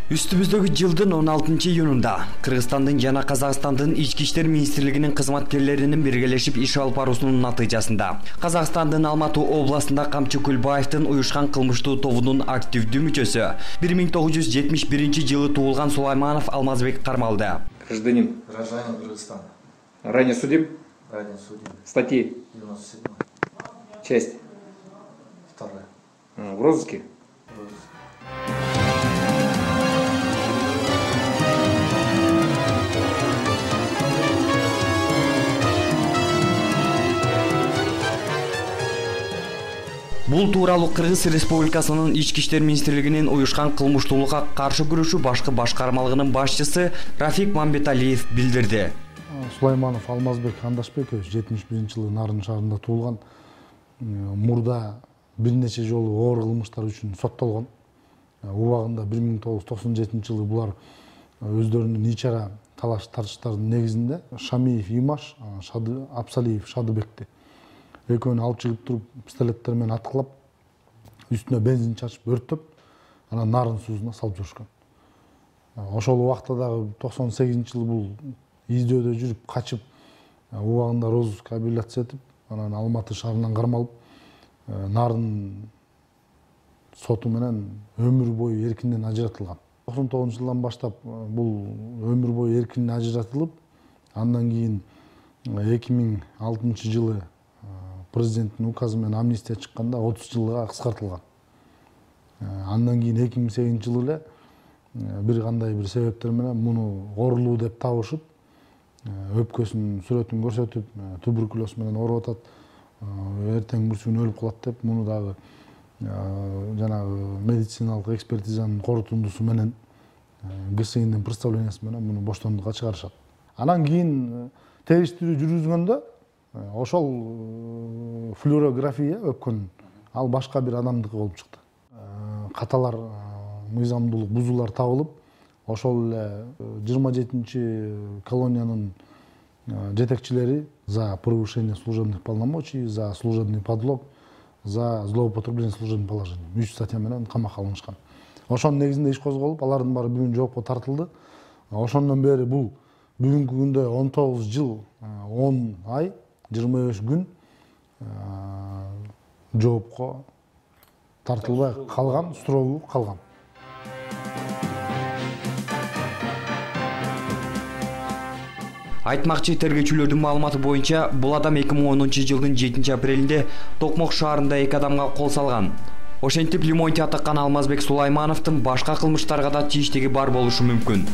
Үстүбүздөгү жылдын 16-июнунда Кыргызстандын жана Казакстандын ички иштер министрлигинин кызматкерлеринин биргелешип иш алып баруусунун натыйжасында Казакстандын Алматы областында Камчы Кулбаевдин уюшкан кылмыштуу тобунун активдүү мүчөсү 1971 жылы туулган Сулайманов Алмазбек кармалды. Гражданин. Гражданин Кыргызстана. Ранее судим? Ранее судим. Статьи? 97. Часть? 2. В розыске? В розыске. Бул тууралуу Кыргыз Республикасынын ички иштер министрлигинин уюшкан кылмыштуулукка каршы күрөшүү башкы башкармалыгынын башчысы Рафик Мамбеталиев билдирди. Сулайманов Алмазбек Андашбекович 71-жылы Нарын шаарында туулган. Мурда бир нече жолу оор кылмыштар үчүн соттолгон. Убагында 1997-жылы булар өздөрүнүн ичара талаш тартыштардын негизинде Шамиев Имаш, Абсалиев Шадыбекти экөөнү алып чыгып туруп пистолеттер менен аткылап, үстүнө бензин чачып өрттөп, анан Нарын суусуна салып жүрүшкөн. Ошол убакта дагы 98-жылы бул издөөдө жүрүп качып, убагында розыска апелляция этип, анан Алматы шаарынан кармалып, Нарын соту менен өмүр бою эркинден ажыратылган. 99-жылдан баштап бул өмүр бою эркинден ажыратылып, андан кийин 2006-жылы президенттин указы менен амнистия чыкканда 30 жылга кыскартылган. Андан кийин 2008-жылы эле бир кандай бир себептер менен муну оорулуу деп табышып, өпкөсүнүн сүрөтүн көрсөтүп, туберкулез менен ооруп атат, эртең бүрсү күнү өлүп калат деп, муну дагы жанагы медициналык экспертизанын корутундусу менен ГСИндин представлениясы менен муну боштондукка чыгарышат. Анан кийин териштирүү жүргүзгөндө ошол флюорография өпкөнүн ал башка бир адамдыкы болуп чыкты. Каталар, мыйзамдуулук бузуулар табылып, ошол эле 27-чи колониянын жетекчилери за превышение служебных полномочий, за служебный подлог, за злоупотребление служебным положением 3 статья менен камакка алынышкан. Ошонун негизинде иш козголуп, алардын баары бүгүн жоопко тартылды. Ошондон бери бул бүгүнкү күндө 19 жыл 10 ай 25 күн жоопко тартылбай калган, суроо калган. Айтмакчы, тергөөчүлөрдүн маалыматы боюнча, бул адам 2010-жылдын 7-апрелинде Токмок шаарында 2 адамга кол салган. Ошентип Лимонти атакан Алмазбек Сулаймановдун башка кылмыштарга да тийиштиги бар болушу мүмкүн.